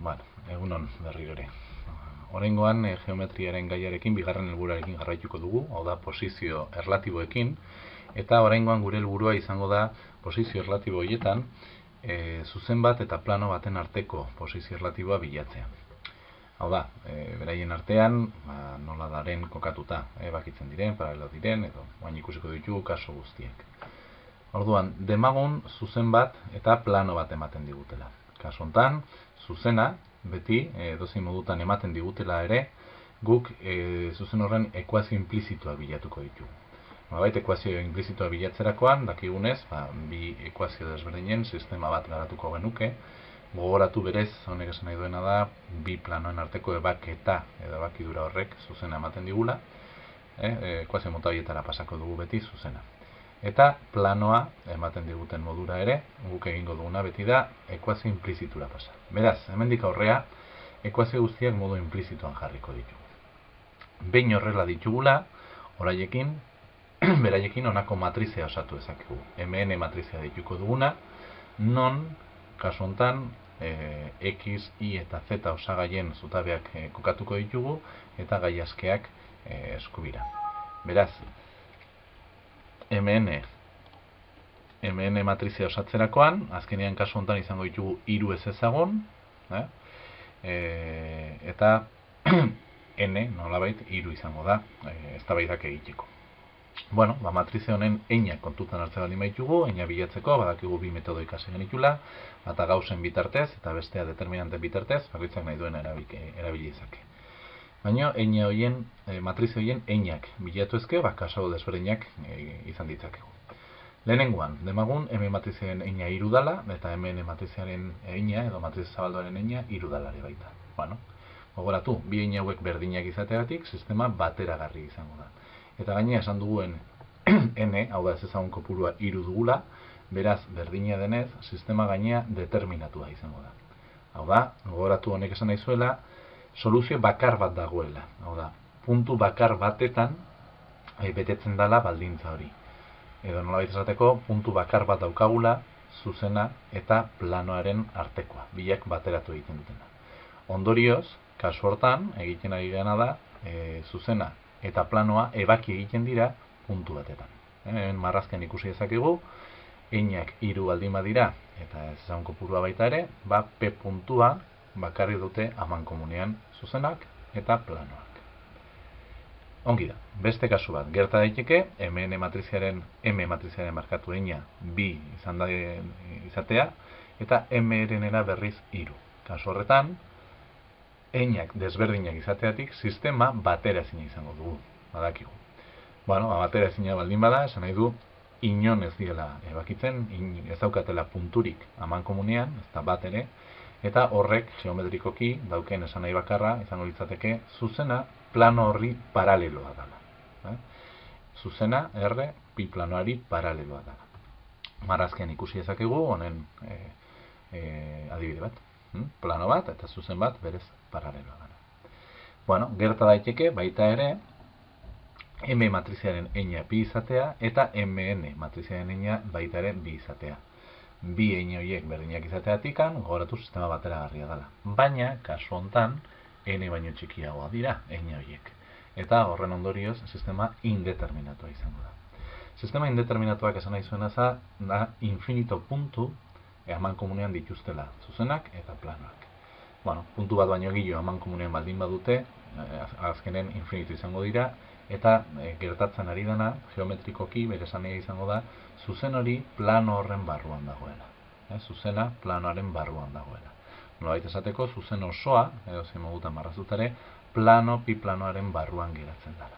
Bueno, egunon berriro ere. Oraingoan geometriaren gaiarekin bigarren helburuarekin jarraituko dugu, hau da posizio erlatiboekin, eta oraingoan gure helburua izango da posizio erlatibo horietan zuzen bat eta plano baten arteko posizio erlatiboa bilatzea. Hau da, beraien artean nola daren kokatuta, bakitzen diren, paralelo diren, edo baina ikusiko ditugu kaso guztiek. Orduan, demagun zuzen bat eta plano bat ematen digutela. Kasu hontan, zuzena, beti, edozein modutan ematen digutela ere, guk zuzen horren ekuazio inplizituak bilatuko ditugu. Nolabait, ekuazio inplizituak bilatzerakoan, dakigunez, bi ekuazio desberdinen sistema bat garatuko genuke. Gogoratu berez, honek esan nahi duena da, bi planoen arteko ebaketa edo ebakidura horrek zuzena ematen digula. Ekuazio mota horietara pasako dugu beti zuzena. Eta planoa ematen diguten modura ere, guk egingo duguna beti da ekuazio inplizitura pasa. Beraz, hemendik aurrea, ekuazio guztiak modu inplizituan jarriko ditugu. Behin horrela ditugula, oraiekin, beraiekin honako matrizea osatu dezakegu. MN matrizea dituko duguna, non, kasu hontan, X, Y eta Z osagaien zutabeak kokatuko ditugu, eta gai askeak eskubira. Beraz, MN matrizea osatzerakoan, azkenean kasu hontan izango ditugu hiru ezezagun, eta N, nolabait, hiru izango da, eztabaidak egiteko. Bueno, matrize honen einak kontutan hartzen baldin baitugu, eina bilatzeko, badakigu bi metodo ikasi genitula, bata gauzen bitartez eta bestea determinanten bitartez, bakoitzak nahi duen erabili dezake. Baina matrize horien einak bilatu ezke, kaso desberdinak izan ditzakegu. Lehenengoan, demagun, M matrizearen eina hiru dala, eta MN matrizearen eina, edo matrize zabaldoaren eina hiru dalare baita. Bueno, gogoratu, bi eina hauek berdinak izateagatik, sistema bateragarri izango da. Eta gainera esan duguen N, hau da ez ezagun kopurua hiru dugula, beraz berdina denez, sistema gainea determinatua izango da. Hau da, gogoratu honek esan nahi zuela, soluzio bakar bat dagoela. Hau da, puntu bakar batetan betetzen dela baldintza hori. Edo nolabait esateko, puntu bakar bat daukagula, zuzena eta planoaren artekoa, biak bateratu egiten dutena. Ondorioz, kasu hortan, egiten ari gana da, zuzena eta planoa ebaki egiten dira puntu batetan. Hemen marrazken ikusi dezakegu, einak hiru baldin badira, eta ez ezagun kopurua baita ere, P puntua bakarri dute amankomunean zuzenak eta planoak. Ongi da, beste kasu bat, gerta daiteke, M matriziaren markatu eina bi izan da izatea, eta M-erenera berriz hiru. Kasu horretan, einak desberdinak izateatik sistema bateraezina izango dugu, badakigu. Bueno, bateraezina baldin bada, esan nahi du, inon ez diela ebakitzen, ez daukatela punturik amankomunean, ez da bat ere, eta horrek geometrikoki dauken esan nahi bakarra, izango litzateke, zuzena plano horri paraleloa dela. Zuzena, R, pi planoari paraleloa dela. Marrazkean ikusi dezakegu, honen adibide bat. Plano bat eta zuzen bat berez paraleloa dela. Bueno, gerta daiteke baita ere M matriziaren eina bi izatea eta MN matriziaren eina baita ere bi izatea. Bi eina horiek berdinak izateatikan gogoratu sistema bateragarria dela. Baina, kasu hontan, N baino txikiagoa dira eina horiek. Eta horren ondorioz sistema indeterminatua izango da. Sistema indeterminatuak esan nahi zuena da infinito puntu amankomunean dituztela, zuzenak eta planoak. Bueno, puntu bat baino gehiago amankomunean baldin badute, azkenen infinitu izango dira, eta gertatzen ari dena, geometrikoki, bere esanea izango da, zuzen hori plano horren barruan dagoela. Zuzena planoaren barruan dagoela. Nolabait esateko, zuzen osoa, edo zein modutan marrazutare, pi planoaren barruan geratzen dela.